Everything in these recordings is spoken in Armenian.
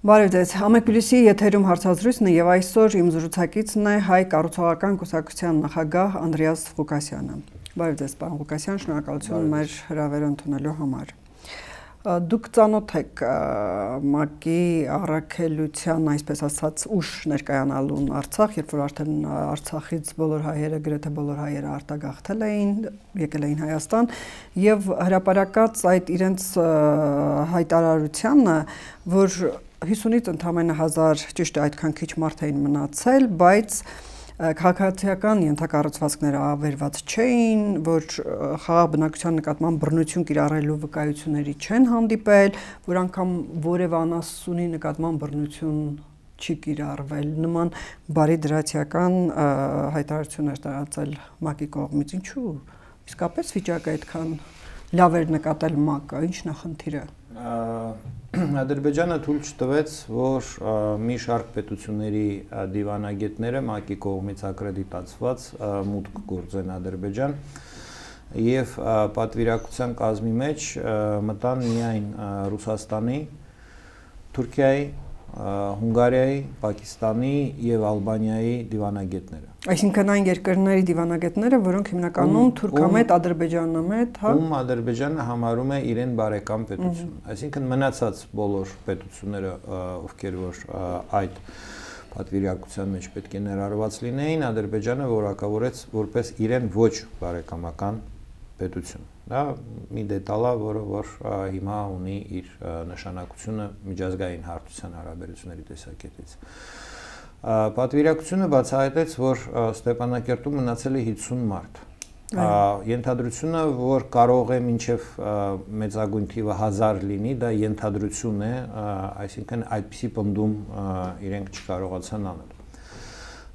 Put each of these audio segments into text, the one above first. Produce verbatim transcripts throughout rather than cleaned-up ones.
Բարև ձեզ, Ամեկուլիսի եթերում հարցազրույցն է եւ այսօր իմ զրուցակիցն է Հայ կառուցողական կուսակցության նախագահ Անդրեաս Ղուկասյանը։ Բարև ձեզ, պարոն Ղուկասյան, շնորհակալություն մեր հրավերը ընդունելու համար։ Դուք ծանոթ եք ՄԱԿ-ի առաքելության, այսպես ասած, ուշ ներկայանալուն Արցախ, երբ որ արդեն Արցախից բոլոր հայերը, գրեթե բոլոր հայերը արտագաղթել էին, եկել էին Հայաստան, եւ հրապարակած այդ իրենց հայտարարությանը, որ հիսունից ընդամենը հազար, ճիշտ է, այդքան քիչ մարդ էին մնացել, բայց քաղաքացիական ենթակառուցվածքները ավերված չէին, որ խաղաղ բնակության նկատմամբ բռնություն կիրառելու վկայությունների չեն հանդիպել, որ անգամ որևէ անասունի նկատմամբ բռնություն չի կիրառվել, նման բարի դրացիական հայտարարություն էր տարածել ՄԱԿ-ի կողմից, ինչու՞, իսկապես վիճակը այդքան լավ էր նկատել ՄԱԿ-ը, ի՞նչն է խնդիրը։ Ադրբեջանը թույլ չտվեց, որ մի շարք պետությունների դիվանագետները ՄԱԿ-ի կողմից ակրեդիտացված մուտք գործեն Ադրբեջան եւ պատվիրակության կազմի մեջ մտան միայն Ռուսաստանի, Թուրքիայի, Հունգարիայի, Պակիստանի եւ Ալբանիայի դիվանագետները։ Այսինքն այն երկրների դիվանագետները, որոնք հիմնականում թուրքամետ, ադրբեջանամետ, հա, ում Ադրբեջանը համարում է իրեն բարեկամ պետություն։ Այսինքն մնացած բոլոր պետությունները, ովքեր որ այդ պատվիրակության մեջ պետք է ներառված լինեին, Ադրբեջանը որակավորեց որպես իրեն ոչ բարեկամական պետություն։ Դա մի դետալ է, որը որ հիմա ունի իր նշանակությունը միջազգային հարթության հարաբերությունների տեսակետից։ Պատվիրակությունը բացահայտեց, որ Ստեփանակերտում մնացել է հիսուն մարդ։ Ենթադրությունը, որ կարող է մինչև մեծագույն թիվը հազար լինի, դա ենթադրություն է, այսինքն այդպիսի պնդում իրենք չկարողացան անել։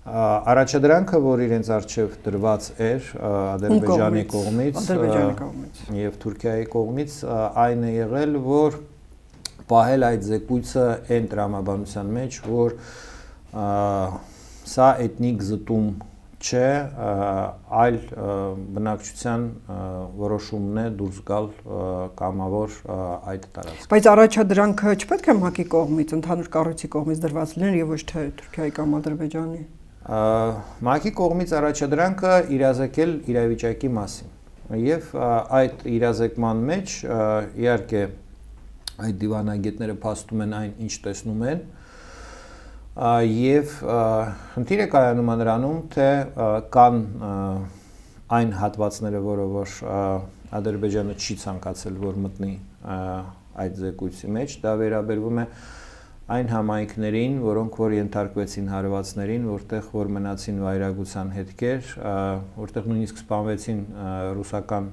Առաջադրանքը, որ իրենց առջև դրված էր Ադրբեջանի կողմից եւ Թուրքիայի կողմից, այն է եղել, որ պահել այդ զեկույցը այն տրամաբանության մեջ, որ սա էթնիկ զտում չէ, այլ բնակչության որոշումն է դուրս գալ կամավոր այդ տարածք։ Բայց առաջադրանքը չպետք է ՄԱԿ-ի կողմից, ընդհանուր կառույցի կողմից դրված լիներ եւ ոչ թե Թուրքիայի կամ Ադրբեջանի։ ՄԱԿ-ի կողմից առաջադրանքը իրազեկել իրավիճակի մասին եւ այդ իրազեկման մեջ իհարկե այդ դիվանագետները փաստում են այն, ինչ տեսնում են եւ խնդիրը կայանում է նրանում, թե կան այն հատվածները, որը որ Ադրբեջանը չի ցանկացել, որ մտնի այդ զեկույցի մեջ, դա վերաբերվում է այն համայնքներին, որոնք որ ենթարկվեցին հարվածներին, որտեղ որ մնացին վայրագության հետքեր, որտեղ նույնիսկ սպանվեցին ռուսական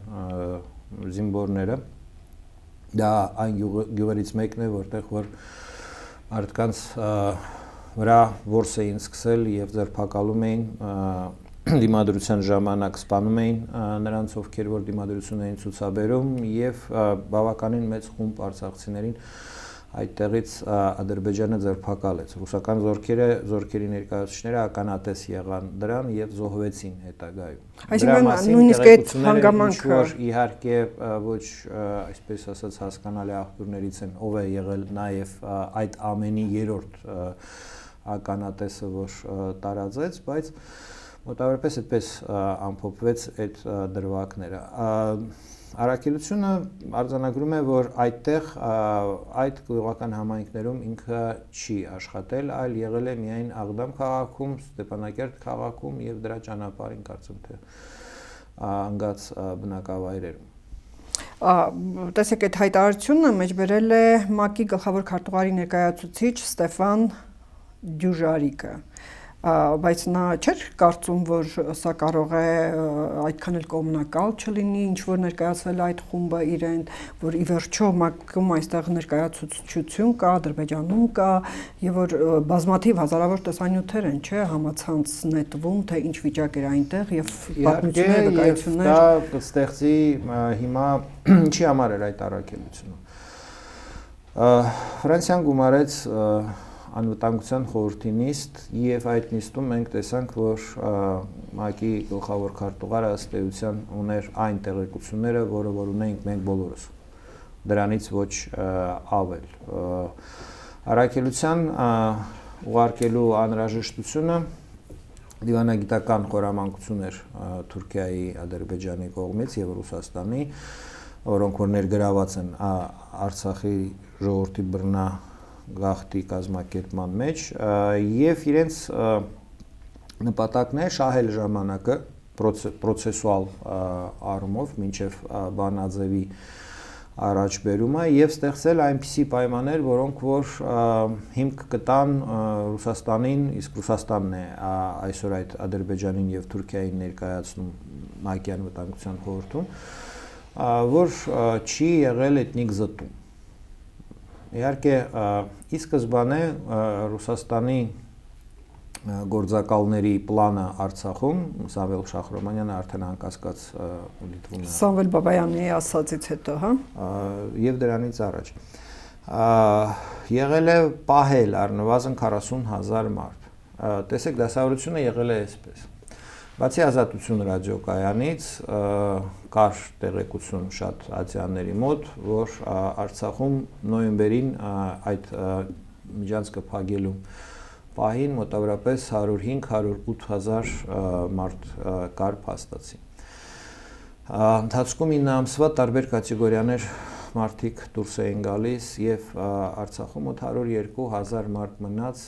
զինվորները, դա այն գյուղերից մեկն է, որտեղ որ մարդկանց վրա որս էին սկսել եւ ձերբակալում էին դիմադրության ժամանակ սպանում էին նրանց, ովքեր որ դիմադրություն էին ցուցաբերում եւ բավականին մեծ խումբ արցախցիներին այդտեղից Ադրբեջանը ձերբակալեց։ Ռուսական զորքերը, զորքերի ներկայացուցիչները ականատես եղան դրան եւ զոհվեցին հետագայում։ Այսինքն նույնիսկ այդ հանգամանքը, որ իհարկե ոչ այսպես ասած հասկանալի աղբյուրներից են, ով է եղել նաեւ այդ ամենի երրորդ ականատեսը, որ տարածեց, բայց մոտավորապես այդպես ամփոփվեց այդ դրվագները։ Առաքելությունը արձանագրում է, որ այդտեղ այդ գյուղական համայնքներում ինքը չի աշխատել, այլ եղել է միայն Աղդամ քաղաքում, Ստեփանակերտ քաղաքում եւ դրա ճանապարհին կարծում թե անգած բնակավայրերում։ Տեսեք, այդ հայտարարությունը մեջբերել է ՄԱԿ-ի գլխավոր քարտուղարի ներկայացուցիչ Ստեփան Դյուժարիկը, բայց նա չէր կարծում, որ սա կարող է այդքան էլ կողմնակալ չլինի, ինչ որ ներկայացվել այդ խումբը իրեն, որ ի վերջո ՄԱԿ-ում այստեղ ներկայացուցչություն կա, Ադրբեջանում կա, եւ որ բազմաթիվ հազարավոր տեսանյութեր են, չէ, համացանց նետվում, թե ինչ վիճակ էր այնտեղ եւ պատմություններ, վկայություններ։ Դա կստեղծի հիմա ինչի համար էր այդ առաքելությունը։ Ֆրանսիան գումարեց անվտանգության խորհրդի նիստ եւ այդ նիստում մենք տեսանք, որ ՄԱԿ-ի գլխավոր քարտուղարը ըստ էության ուներ այն տեղեկությունները, որը որ ունենք մենք բոլորս, դրանից ոչ ավել։ Առաքելության ուղարկելու անհրաժեշտությունը դիվանագիտական խորամանկություն էր Թուրքիայի, Ադրբեջանի կողմից եւ Ռուսաստանի, որոնք որ ներգրաված են Արցախի ժողովրդի բռնա գաղթի կազմակերպման մեջ եւ իրենց նպատակն է շահել ժամանակը պրոցեսուալ առումով մինչեւ բանաձևի առաջբերումը եւ ստեղծել այնպիսի պայմաններ, որոնք որ հիմք կտան Ռուսաստանին, իսկ Ռուսաստանն է այսօր այդ Ադրբեջանին եւ Թուրքիային ներկայացնում ՄԱԿ-ի անվտանգության խորհրդում, որ չի եղել էթնիկ զտում։ Իհարկե, ի սկզբանե Ռուսաստանի գործակալների պլանը Արցախում, Սամվել Շախրոմանյանը արդեն անկասկած դիտվում է։ Սամվել Բաբայանի ասածից հետո, հա։ Եվ դրանից առաջ։ Եղել է պահել առնվազն քառասուն հազար մարդ։ Տեսեք, դասավորությունը եղել է այսպես։ Բացի Ազատություն ռադիոկայանից կար տեղեկություն շատ ացիաների մոտ, որ Արցախում նոյեմբերին այդ միջանցքը փակելու պահին մոտավորապես հարյուր հինգ հարյուր ութ հազար մարդ կար փաստացի։ Ընթացքում ինը ամսվա տարբեր կատեգորիաներ մարդիկ դուրս էին գալիս եւ Արցախում մոտ հարյուր երկու հազար մարդ մնաց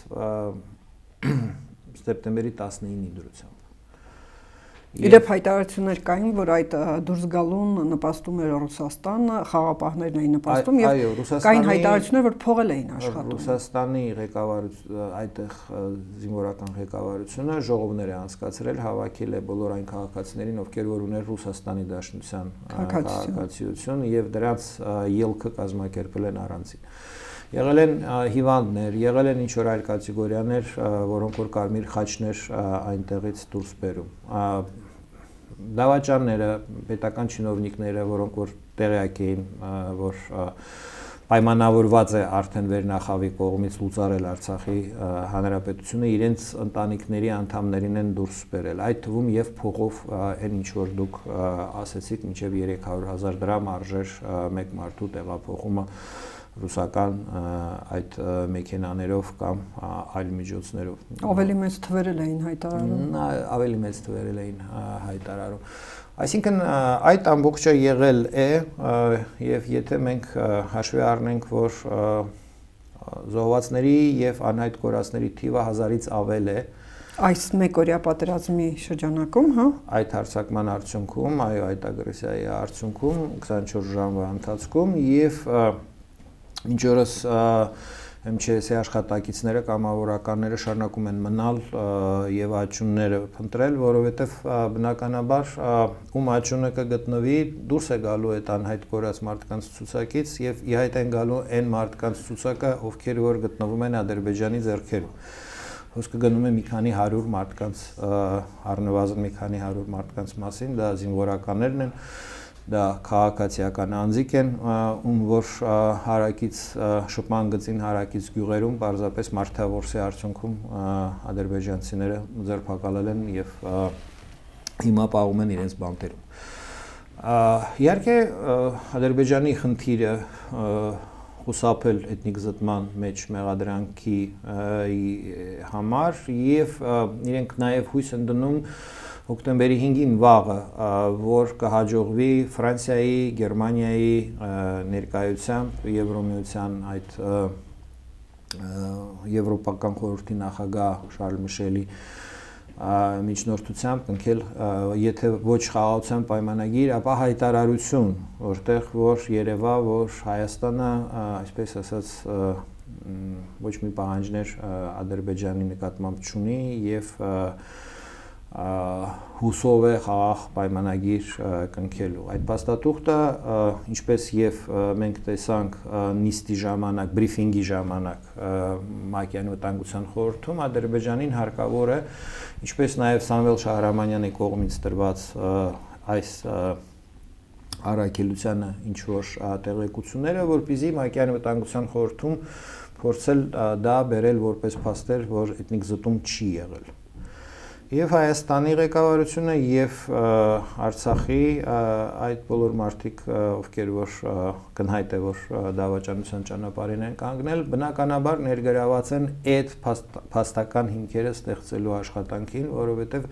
սեպտեմբերի տասնինի դրությամբ։ Իրեւ հայտարարություններ կային, որ այդ դուրս գալուն նպաստում էր Ռուսաստանը, խաղապահներն էին նպաստում եւ կային հայտարարություններ, որ փողել էին աշխատում։ Ռուսաստանի ղեկավարությունը, այդտեղ զինվորական ղեկավարությունը ժողովներ է անցկացրել, հավաքել է բոլոր այն քաղաքացիներին, ովքեր որ ուներ Ռուսաստանի Դաշնության քաղաքացիություն եւ դրանց ելքը կազմակերպել են առանցին։ Եղել են հիվանդներ, եղել են ինչ-որ այլ կատեգորիաներ, որոնք որ կարմիր խաչներ այնտեղից դուրս բերում։ Դավաճանները, պետական չինովնիկները, որոնք որ տեղյակ էին, որ պայմանավորված է արդեն վերնախավի կողմից լուծարել Արցախի հանրապետությունը, իրենց ընտանիքների անդամներին են դուրս բերել։ Այդ թվում եւ փողով այն ինչ որ դուք ասեցիք, մինչեւ երեք հարյուր հազար դրամ արժեր մեկ մարդու տեղափոխումը ռուսական այդ մեքենաներով կամ այլ միջոցներով։ Ավելի մեծ թվերել էին հայտարարում։ Ավելի մեծ թվերել էին հայտարարում։ Այսինքն այդ ամբողջը եղել է եւ եթե մենք հաշվի առնենք, որ զոհվածների եւ անհայտ կորածների թիվը հազարից ավել է այս մեկօրյա պատերազմի շրջանակում, հա, այդ հարձակման արդյունքում, այո, այդ ագրեսիայի արդյունքում քսանչորս ժամվա ընթացքում եւ ինչ օրս эմ չե էս-ի աշխատակիցները կամավորականները շարունակում են մնալ եւ աճյունները փնտրել, որովհետեւ բնականաբար ում աճյունը կգտնվի, դուրս է գալու այդ անհայտ կորած մարդկանց ցուցակից եւ ի հայտ են գալու այն մարդկանց ցուցակը, ովքեր որ գտնվում են Ադրբեջանի ձեռքերում։ Խոսքը գնում է մի քանի հարյուր մարդկանց, առնվազն մի քանի հարյուր մարդկանց մասին, դա զինվորականներն են, դա քաղաքացիական անձիկ են, ում որ հարակից շփման գծին հարակից գյուղերում պարզապես մարդավորսի արդյունքում ադրբեջանցիները ձերբակալել են եւ հիմա պահում են իրենց բանտերում։ Իհարկե Ադրբեջանի խնդիրը խուսափել էթնիկ զտման մեջ մեղադրանքի համար եւ իրենք նաեւ հույս են դնում հոկտեմբերի հինգին վաղը, որ կհաջողվի Ֆրանսիայի, Գերմանիայի ներկայությամբ Եվրոմիության այդ Եվրոպական խորհրդի նախագահ Շարլ Միշելի միջնորդությամբ կնքել եթե ոչ խաղաղության պայմանագիր, ապա հայտարարություն, որտեղ որ երևա, որ Հայաստանը, այսպես ասած, ոչ մի պահանջներ Ադրբեջանի նկատմամբ չունի եւ հուսով է խաղաղ պայմանագիր կնքելու։ Այդ փաստաթուղթը, ինչպես եւ մենք տեսանք նիստի ժամանակ, բրիֆինգի ժամանակ ՄԱԿ-ի անվտանգության խորհրդում, Ադրբեջանին հարկավոր է, ինչպես նաեւ Սամվել Շահրամանյանի կողմից տրված այս առաքելությանը ինչ որ տեղեկությունները, որպեսզի ՄԱԿ-ի անվտանգության խորհրդում փորձել դա բերել որպես փաստեր, որ էթնիկ զտում չի եղել։ Եվ Հայաստանի ղեկավարությունը եւ Արցախի այդ բոլոր մարդիկ, ովքեր որ կնհայտ է որ դավաճանության ճանապարհին են կանգնել, բնականաբար ներգրաված են այդ փաստական հիմքերը ստեղծելու աշխատանքին, որովհետեւ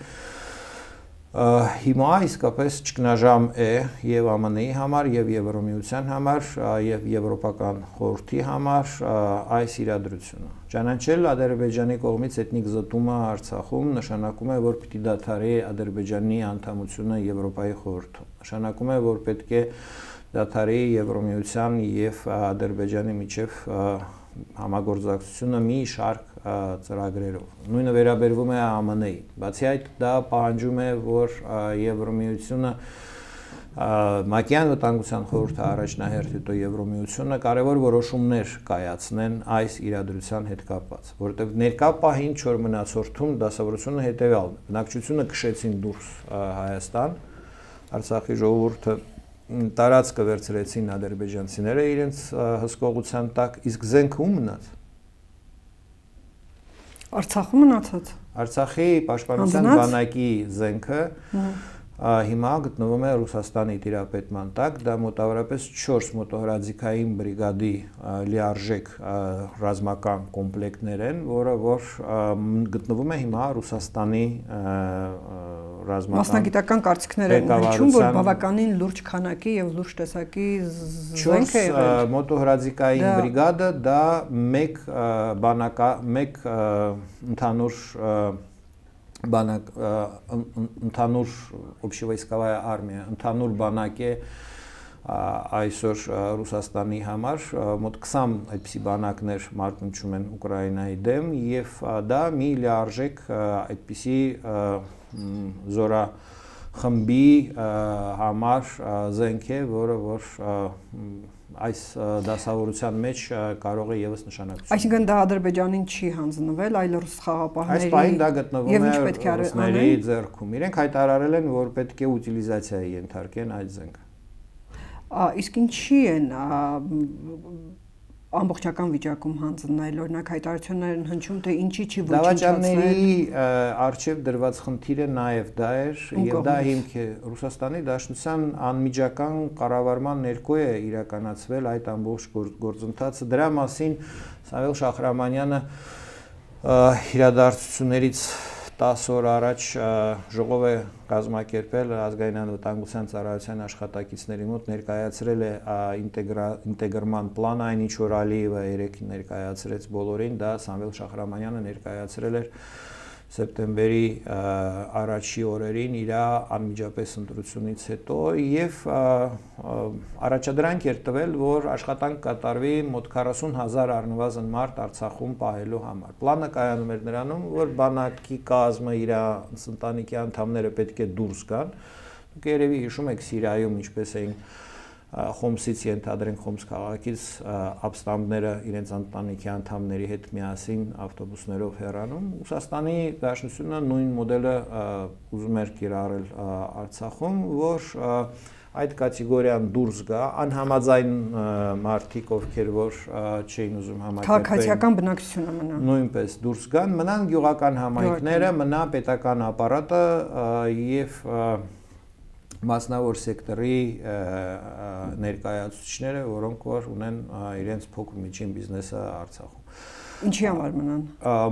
հիմա իսկապես ճգնաժամ է եւ Է Մ Ն-ի համար եւ Եվրոմիության համար եւ Եվրոպական խորհրդի համար այս իրադրությունը։ Ճանաչել Ադրբեջանի կողմից էթնիկ զտումը Արցախում նշանակում է, որ պիտի դադարի Ադրբեջանի անդամությունը Եվրոպայի խորհրդում։ Նշանակում է, որ պետք է դադարի Եվրոմիության եւ Ադրբեջանի միջև համագործակցությունը մի շարք ծրագրերով։ Նույնը վերաբերվում է Է Մ Ն-ի։ Բացի այդ, դա պահանջում է, որ Եվրոմիությունը Մակյան վտանգության խորհուրդը առաջնահերթ հետո Եվրոմիությունը կարևոր որոշումներ կայացնեն այս իրադրության հետ կապված, որովհետև ներկա պահին չոր մնացորդում դասավորությունը հետևյալն է։ Բնակչությունը քշեցին դուրս Հայաստան, Արցախի ժողովուրդը տարածքը վերցրեցին ադրբեջանցիները իրենց հսկողության տակ, իսկ զենքը ում մնաց։ Արցախում մնացած։ Արցախի պաշտպանության բանակի զենքը հիմա գտնվում է Ռուսաստանի տիրապետման տակ, դա մոտավորապես չորս մոտոհրաձիգային բրիգադի լիարժեք ռազմական կոմպլեկտներ են, որը որ գտնվում է հիմա Ռուսաստանի ռազմական մասնագիտական կարծիքներ են հնչում, որ բավականին լուրջ քանակի եւ լուրջ տեսակի զենք է եղել։ Մոտոհրաձիգային բրիգադը դա մեկ բանակա մեկ ընդհանուր բանակ ընդհանուր общевойсковая армия, ընդհանուր բանակ է այսօր Ռուսաստանի համար, մոտ քսան այդպիսի բանակներ մարտնչում են Ուկրաինայի դեմ եւ դա մի լիարժեք այդպիսի զորախմբի համար զենք է, որը որ այս դասավորության մեջ կարող է եւս նշանակություն։ Այսինքն դա Ադրբեջանին չի հանձնվել, այլ ռուս խաղապահների։ Այս պահին դա գտնվում է ռուսների ձեռքում։ Իրենք հայտարարել են, որ պետք է ուտիլիզացիայի ենթարկեն այդ զենքը։ Իսկ ինչի են ամբողջական վիճակում հանձնել, օրինակ հայտարարություններ են հնչում, թե ինչի չի ոչնչացնել։ Դավաճանների արժև դրված խնդիրը նաև դա էր, եւ դա հիմք է Ռուսաստանի Դաշնության անմիջական կառավարման ներքո է իրականացվել այդ ամբողջ գործընթացը։ Դրա մասին Սամվել Շահրամանյանը իրադարձություններից տասը օր առաջ ժողով է կազմակերպել ազգային անվտանգության ծառայության աշխատակիցների մոտ, ներկայացրել է ինտեգրման պլան, այն ինչ որ Ալիևը երեկ ներկայացրեց բոլորին, դա Սամվել Շահրամանյանը ներկայացրել էր սեպտեմբերի առաջի օրերին իր անմիջապես ընտրությունից հետո եւ առաջադրանք էր տվել, որ աշխատանք կատարվի մոտ քառասուն հազար առնվազն մարդ Արցախում պահելու համար։ Պլանը կայանում էր նրանում, որ բանակի կազմը իր ընտանիքի անդամները պետք է դուրս գան։ Դուք երևի հիշում եք Սիրիայում ինչպես էին Խոմսից ենթադրենք Խոմս քաղաքից ապստամբները իրենց ընտանիքի անդամների հետ միասին ավտոբուսներով հեռանում։ Ռուսաստանի Դաշնությունը նույն մոդելը ուզում էր կիրառել Արցախում, որ այդ կատեգորիան դուրս գա, անհամաձայն մարդիկ, ովքեր որ չէին ուզում համակերպել, քաղաքացիական բնակչությունը մնա, նույնպես դուրս գան, մնան գյուղական համայնքները, մնա պետական ապարատը եւ մասնավոր սեկտորի ներկայացուցիչները, որոնք որ ունեն իրենց փոքր միջին բիզնեսը Արցախում։ Ինչի համար մնան։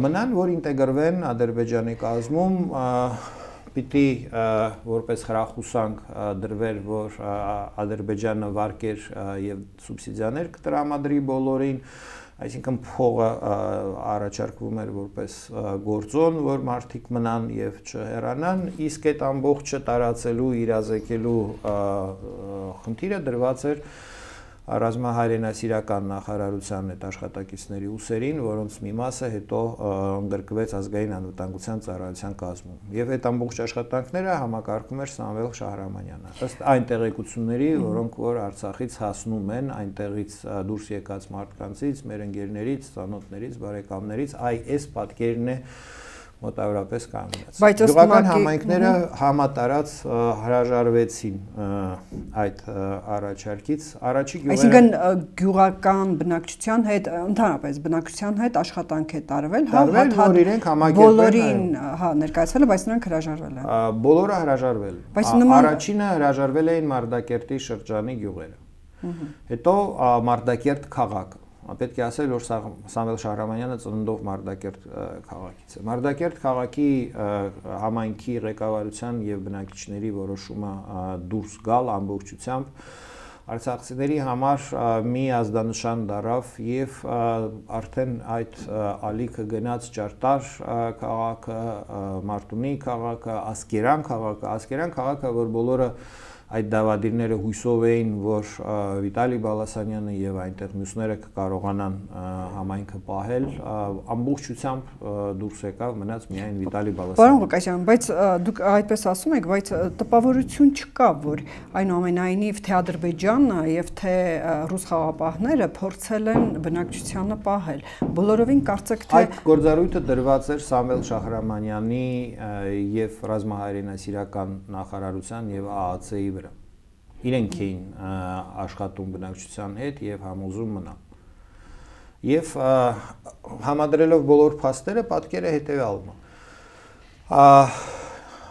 Մնան, որ ինտեգրվեն Ադրբեջանի կազմում, պիտի որպես խրախուսանք դրվեր, որ Ադրբեջանը վարկեր եւ սուբսիդիաներ կտրամադրի բոլորին, այսինքն փողը առաջարկվում էր որպես գործոն, որ մարդիկ մնան եւ չհեռանան, իսկ այդ ամբողջը տարածելու, իրազեկելու խնդիրը դրված էր ռազմահայրենասիրական նախարարության այդ աշխատակիցների ուսերին, որոնց մի մասը հետո ընդգրկվեց ազգային անվտանգության ծառայության կազմում։ Եվ այդ ամբողջ աշխատանքները համակարգում էր Սամվել Շահրամանյանը։ Ըստ այն տեղեկությունների, որոնք որ Արցախից հասնում են, այնտեղից դուրս եկած մարդկանցից, մեր ընկերներից, ծանոթներից, բարեկամներից, այ այս պատկերն է, մոտավորապես կանգնած։ Գյուղական համայնքները համատարած հրաժարվեցին այդ առաջարկից։ Առաջի գյուղերը Այսինքն գյուղական բնակչության հետ ընդհանրապես բնակչության հետ աշխատանք է տարվել, հա, որ իրենք համակերպել բոլորին, հա, ներկայացվել, բայց նրանք հրաժարվել են։ Բոլորը հրաժարվել։ Առաջինը հրաժարվել էին Մարտակերտի շրջանի գյուղերը։ Հետո Մարտակերտ քաղաքը։ Պետք է ասել, որ Սամվել Շահրամանյանը ծննդով Մարտակերտ քաղաքից է։ Մարտակերտ քաղաքի համայնքի ղեկավարության եւ բնակիչների որոշումը դուրս գալ ամբողջությամբ արցախցիների համար մի ազդանշան դարավ եւ արդեն այդ ալիքը գնաց Ճարտար քաղաքը, Մարտունի քաղաքը, Ասկերան քաղաքը, Ասկերան քաղաքը, որ բոլորը այդ դավադիրները հույսով էին, որ Վիտալի Բալասանյանը եւ այնտեղ մյուսները կկարողանան համայնքը պահել, ամբողջությամբ դուրս եկավ, մնաց միայն Վիտալի Բալասանյանը։ Պարոն Ղուկասյան, բայց դուք այդպես ասում եք, բայց տպավորություն չկա, որ այնուամենայնիվ թե Ադրբեջանը եւ թե ռուս խաղապահները փորձել են բնակչությանը պահել։ Բոլորովին կարծեք թե այդ գործառույթը դրված էր Սամվել Շահրամանյանի եւ ռազմահայրենասիրական նախարարության եւ ԱԱՑ-ի վրա։ Իրենք էին աշխատում բնակչության հետ եւ համոզում մնալ։ Եվ համադրելով բոլոր փաստերը պատկերը հետեւյալն է։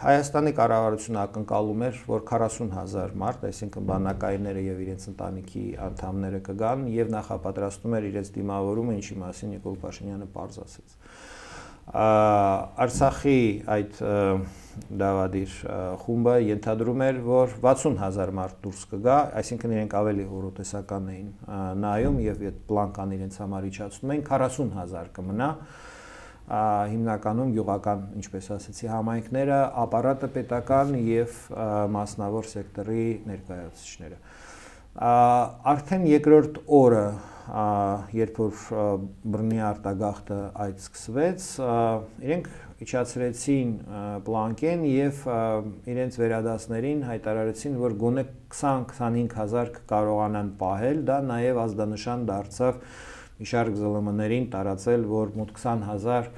Հայաստանի կառավարությունը ակնկալում էր, որ քառասուն հազար մարդ, այսինքն բանակայինները եւ իրենց ընտանիքի անդամները կգան եւ նախապատրաստում էր իրենց դիմավորումը, ինչի մասին Նիկոլ Փաշինյանը պարզ ասեց։ Արցախի այդ դավադիր խումբը ենթադրում էր, որ վաթսուն հազար մարդ դուրս կգա, այսինքն իրենք ավելի հորոտեսական էին նայում եւ այդ պլանկան իրենց համար իջացնում էին, քառասուն հազար կմնա, հիմնականում գյուղական, ինչպես ասեցի, համայնքները, ապարատը պետական եւ մասնավոր սեկտորի ներկայացուցիչները։ Արդեն երկրորդ օրը, երբ որ բռնի արտագաղթը այդ սկսվեց, իրենք իջացրեցին պլանկեն եւ իրենց վերադասներին հայտարարեցին, որ գոնե քսան-քսանհինգ հազար կկարողանան պահել, դա նաեւ ազդանշան դարձավ մի շարք ԶԼՄ-ներին տարածել, որ մոտ քսան հազար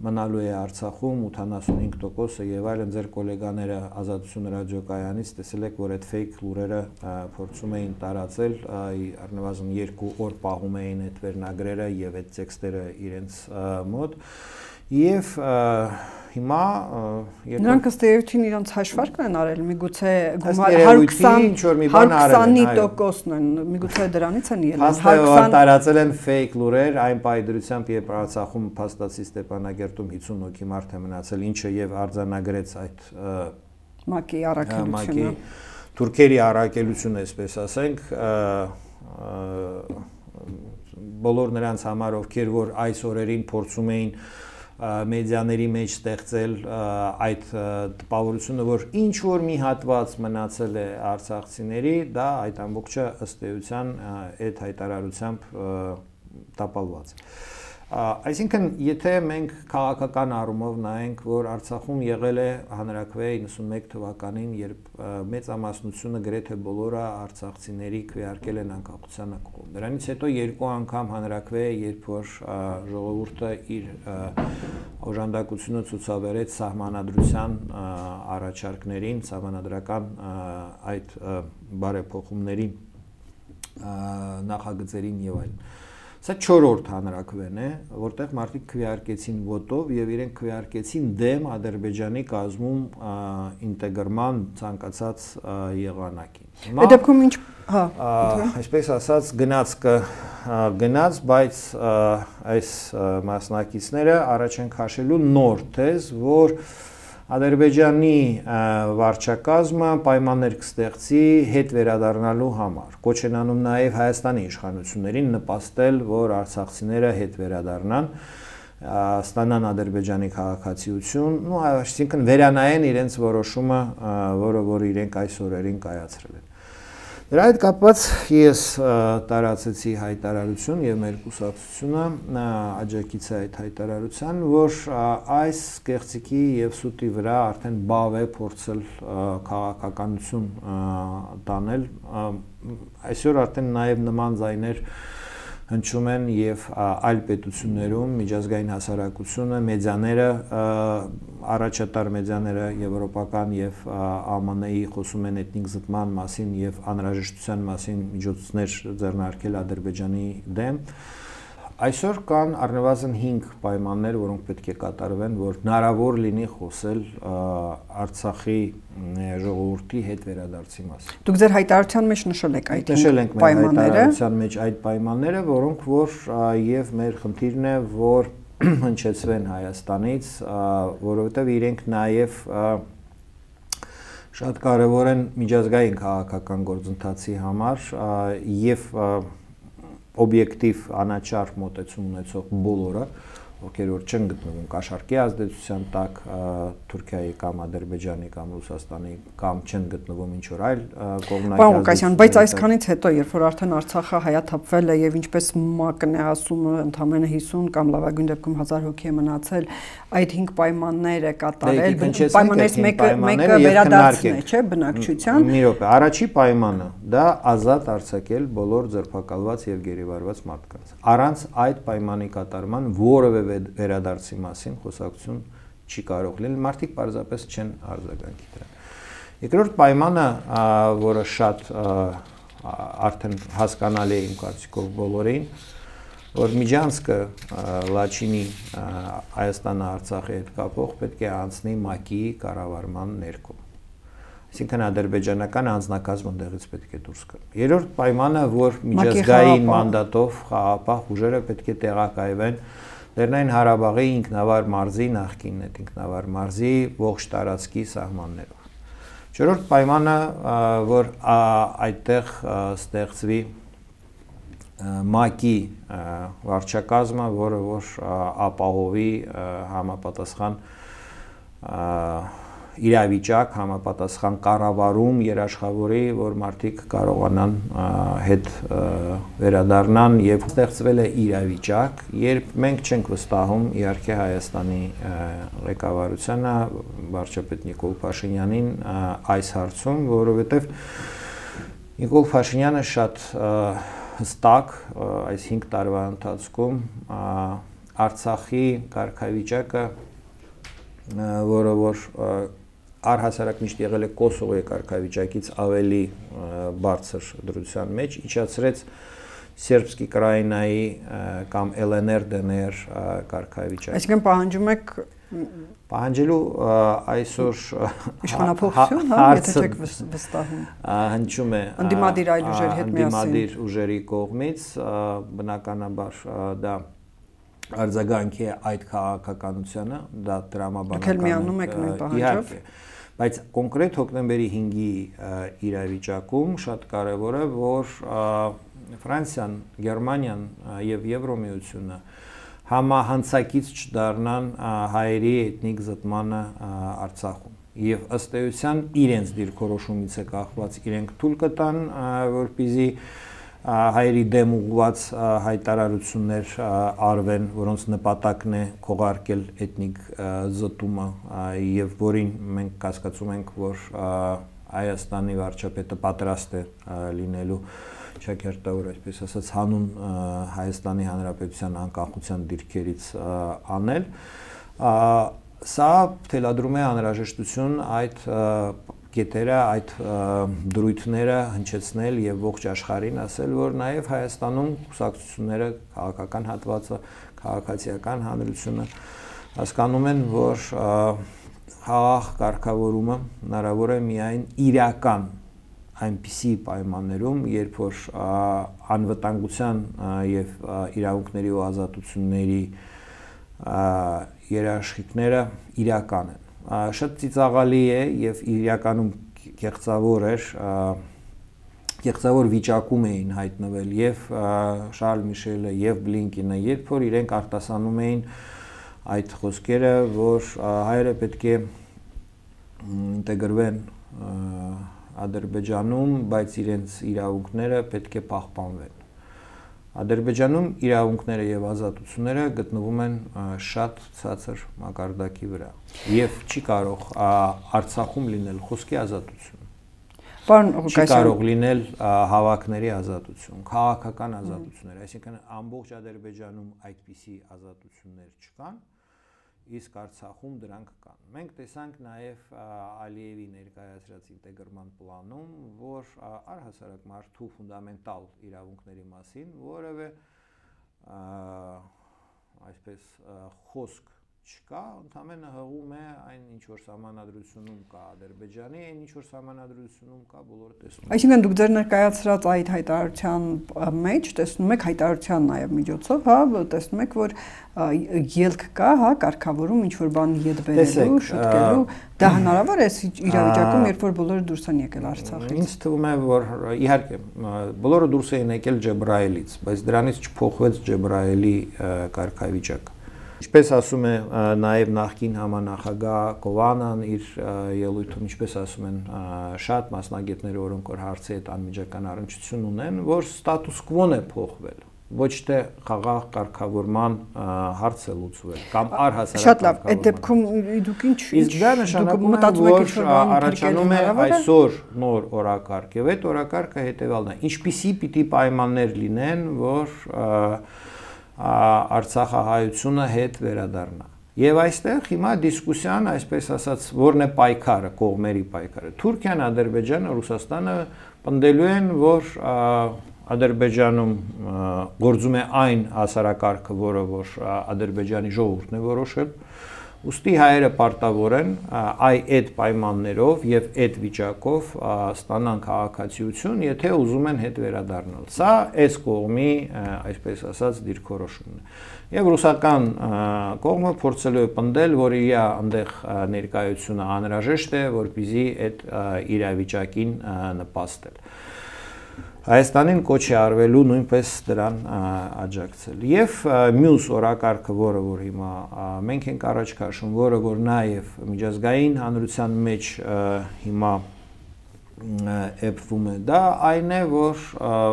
մնալու է Արցախում, ութանասունհինգ տոկոսը եւ այլն, ձեր գոլեգաները Ազատություն ռադիոկայանից տեսել եք, որ այդ ֆեյք լուրերը փորձում էին տարածել, առնվազն երկու օր պահում էին այդ վերնագրերը եւ այդ տեքստերը իրենց մոտ եւ հիմա նրանք ըստ էության իրենց հաշվարկն են արել, միգուցե գումար հարյուր քսան տոկոսն են, միգուցե դրանից են ելել։ Հաստատ տարածել են ֆեյք լուրեր, այն պայդրությամբ, երբ Արցախում փաստացի Ստեփանագերտում հիսուն հոգի մարդ է մնացել, ինչը եւ արձանագրեց այդ ՄԱԿ-ի առաքելությունը, թուրքերի առաքելությունը, այսպես ասենք, բոլոր նրանց համար, ովքեր որ այս օրերին փորձում էին մեդիաների մեջ ստեղծել այդ տպավորությունը, որ ինչ որ մի հատված մնացել է արցախցիների, դա այդ ամբողջը ըստ էության այդ հայտարարությամբ տապալված է։ Այսինքն, եթե մենք քաղաքական առումով նայենք, որ Արցախում եղել է հանրաքվե իննսունմեկ թվականին, երբ մեծամասնությունը գրեթե բոլորը արցախցիների քվեարկել են անկախության ակողում։ Դրանից հետո երկու անգամ հանրաքվե, երբ որ ժողովուրդը իր օժանդակությունը ցուցաբերեց սահմանադրության առաջարկներին, սահմանադրական այդ բարեփոխումներին, նախագծերին եւ այլն։ Սա չորրորդ հանրաքվեն է, որտեղ մարդիկ քվեարկեցին ոտով եւ իրենք քվեարկեցին դեմ Ադրբեջանի կազմում ինտեգրման ցանկացած եղանակին։ Այդ դեպքում ինչ, հա, այսպես ասած գնացքը գնաց, բայց այս մասնակիցները առաջ են քաշելու նոր թեզ, որ Ադրբեջանի վարչակազմը պայմաններ կստեղծի հետ վերադառնալու համար։ Կոչ են անում նաև Հայաստանի իշխանություններին նպաստել, որ արցախցիները հետ վերադառնան, ստանան Ադրբեջանի քաղաքացիություն, ну, այսինքն վերանայեն իրենց որոշումը, որը որ իրենք այս օրերին կայացրել են։ Դրա հետ կապված ես տարածեցի հայտարարություն եւ մեր կուսակցությունը աջակից է այդ հայտարարության, որ այս կեղծիքի եւ սուտի վրա արդեն բավ է փորձել քաղաքականություն տանել։ Այսօր արդեն նաեւ նման ձայներ հնչում են եւ այլ պետություններում միջազգային հասարակությունը, մեդիաները, առաջատար մեդիաները եվրոպական եւ Α Մ Ն-ի խոսում են էթնիկ զտման մասին եւ անհրաժեշտության մասին միջոցներ ձեռնարկել Ադրբեջանի դեմ։ Այսօր կան առնվազն հինգ պայմաններ, որոնք պետք է կատարվեն, որ հնարավոր լինի խոսել Արցախի ժողովրդի հետ վերադարձի մասին։ Դուք ձեր հայտարարության մեջ նշել եք այդ պայմանները։ Հայտարարության մեջ այդ պայմանները, որոնք որ եւ մեր խնդիրն է, որ հնչեցվեն Հայաստանից, որովհետեւ իրենք նաեւ շատ կարեւոր են միջազգային քաղաքական գործընթացի համար եւ օբյեկտիվ անաչառ մոտեցում ունեցող բոլորը, ովքեր որ չեն գտնվում կաշառքի ազդեցության տակ Թուրքիայի կամ Ադրբեջանի կամ Ռուսաստանի կամ չեն գտնվում ինչ որ այլ կողմնակի Պարոն Ղուկասյան, բայց այսքանից հետո, երբ որ արդեն Արցախը հայաթափվել է եւ ինչպես ՄԱԿ-ն է ասում, ընդամենը հիսուն կամ լավագույն դեպքում հազար հոգի է մնացել, այդ հինգ պայմանները կատարել, պայմաններից մեկը մեկը վերադարձն է, չէ՞, բնակչության։ Մի րոպե, առաջի պայմանը դա ազատ արձակել բոլոր ձերբակալված եւ գերեվարված մարդկանց։ Առանց այդ պայմանի կատարման որևէ վերադարձի մասին խոսակցություն չի կարող լինել, մարդիկ պարզապես չեն արձագանքի դրան։ Երկրորդ պայմանը, որը շատ արդեն հասկանալի է իմ կարծիքով բոլորին, որ միջանցքը Լաչինի Հայաստանը Արցախի հետ կապող պետք է անցնի ՄԱԿ-ի կառավարման ներքո։ Այսինքն ադրբեջանական անձնակազմը դեղից պետք է դուրս գա։ Երրորդ պայմանը, որ միջազգային մանդատով խաղաղապահ ուժերը պետք է տեղակայվեն Լեռնային Ղարաբաղի ինքնավար մարզի նախկին այդ ինքնավար մարզի ողջ տարածքի սահմաններով։ Չորրորդ պայմանը, որ այդտեղ ստեղծվի ՄԱԿ-ի վարչակազմը, որը որ ապահովի համապատասխան իրավիճակ, համապատասխան կառավարում երաշխավորի, որ մարդիկ կարողանան հետ վերադառնան եւ ստեղծվել է իրավիճակ, երբ մենք չենք վստահում իհարկե Հայաստանի ղեկավարությանը, վարչապետ Նիկոլ Փաշինյանին այս հարցում, որովհետեւ Նիկոլ Փաշինյանը շատ հստակ այս հինգ տարվա ընթացքում Արցախի կարգավիճակը, որը որ առհասարակ միշտ եղել է Կոսովոյի կարգավիճակից ավելի բարձր դրության մեջ, իջացրեց Սերբսկի Կրաինայի կամ Էլ Են Էր Դե Են Էր կարգավիճակը։ Այսինքն պահանջում եք պահանջելու այսօր իշխանապողություն, հա, եթե չեք վստահում։ Հնչում է ընդդիմադիր այլ ուժերի հետ միասին։ Ընդդիմադիր ուժերի կողմից, բնականաբար դա արձագանքի է այդ քաղաքականությանը, դա տրամաբանական իհարկե, բայց կոնկրետ հոկտեմբերի հինգի իրավիճակում շատ կարևոր է, որ Ֆրանսիան, Գերմանիան եւ Եվրոմիությունը համահանցակից չդառնան հայերի էթնիկ զտմանը Արցախում եւ ըստ էության իրենց դիրքորոշումից է կախված, իրենք թույլ կտան, որպեսզի հայերի դեմ ուղղված հայտարարություններ արվեն, որոնց նպատակն է քողարկել էթնիկ զտումը եւ որին մենք կասկածում ենք, որ Հայաստանի վարչապետը պատրաստ է լինելու ճակերտավոր, այսպես ասած, հանուն Հայաստանի Հանրապետության անկախության դիրքերից անել։ Սա թելադրում է անհրաժեշտություն այդ կետերը, այդ դրույթները հնչեցնել եւ ողջ աշխարհին ասել, որ նաեւ Հայաստանում կուսակցությունները, քաղաքական հատվածը, քաղաքացիական հանրությունը հասկանում են, որ խաղաղ կարգավորումը հնարավոր է միայն իրական այնպիսի պայմաններում, երբ որ անվտանգության եւ իրավունքների ու ազատությունների երաշխիքները իրական են։ Շատ ծիծաղալի է եւ իրականում կեղծավոր էր, կեղծավոր վիճակում էին հայտնվել եւ Շարլ Միշելը եւ Բլինկինը, երբ որ իրենք արտասանում էին այդ խոսքերը, որ հայերը պետք է ինտեգրվեն Ադրբեջանում, բայց իրենց իրավունքները պետք է պահպանվեն։ Ադրբեջանում իրավունքները եւ ազատությունները գտնվում են շատ ցածր մակարդակի վրա եւ չի կարող Արցախում լինել խոսքի ազատություն։ չի կարող լինել հավաքների ազատություն, քաղաքական ազատություններ, այսինքն ամբողջ Ադրբեջանում այդպիսի ազատություններ չկան, իսկ Արցախում դրանք կան։ Մենք տեսանք նաև Ալիևի ներկայացրած ինտեգրման պլանում, որ առհասարակ մարդու ֆունդամենտալ իրավունքների մասին որևէ այսպես խոսք չկա, ընդամենը հղում է այն ինչ որ սահմանադրությունում կա Ադրբեջանի, այն ինչ որ սահմանադրությունում կա բոլորը տեսնում են։ Այսինքն դուք ձեր ներկայացրած այդ հայտարարության մեջ տեսնում եք հայտարարության նաև միջոցով, հա, տեսնում եք, որ ելք կա, հա, կարգավորում ինչ որ բան ետ բերելու, շտկելու, դա հնարավոր է իրավիճակում, երբ որ բոլորը դուրս են եկել Արցախից։ Ինձ թվում է, որ իհարկե բոլորը դուրս են եկել Ջեբրայելից, բայց դրանից չփոխվեց Ջեբրայելի կարգավիճակը։ Ինչպես ասում է նաև նախկին համանախագահ Կովանան իր ելույթում, ինչպես ասում են շատ մասնագետներ, որոնք որ հարցի հետ անմիջական առնչություն ունեն, որ ստատուս կվոն է փոխվել, ոչ թե խաղաղ կարգավորման հարց է լուծվել կամ առհասարակ։ Շատ լավ, այդ դեպքում դուք ինչ իսկ դա նշանակում է, որ առաջանում է այսօր նոր օրակարգ, եւ այդ օրակարգը հետեւյալն է. ինչպիսի պիտի պայմաններ լինեն, որ Արցախահայությունը հետ վերադառնա։ Եվ այստեղ հիմա դիսկուսիան, այսպես ասած, որն է պայքարը, կողմերի պայքարը։ Թուրքիան, Ադրբեջանը, Ռուսաստանը պնդելու են, որ Ադրբեջանում գործում է այն հասարակարգը, որը որ Ադրբեջանի ժողովուրդն է որոշել, ուստի հայերը պարտավոր են այ այդ պայմաններով եւ այդ վիճակով ստանան քաղաքացիություն, եթե ուզում են հետ վերադառնալ։ Սա այս կողմի, այսպես ասած, դիրքորոշումն է։ Եվ ռուսական կողմը փորձելու է պնդել, որ իր այնտեղ ներկայությունը անհրաժեշտ է, որպեսզի այդ իրավիճակին նպաստել։ Հայաստանին կոչ է արվելու նույնպես դրան աջակցել։ Եվ մյուս օրակարգը, որը որ հիմա մենք ենք առաջ քաշում, որը որ նաև միջազգային հանրության մեջ հիմա էփվում է, դա այն է, որ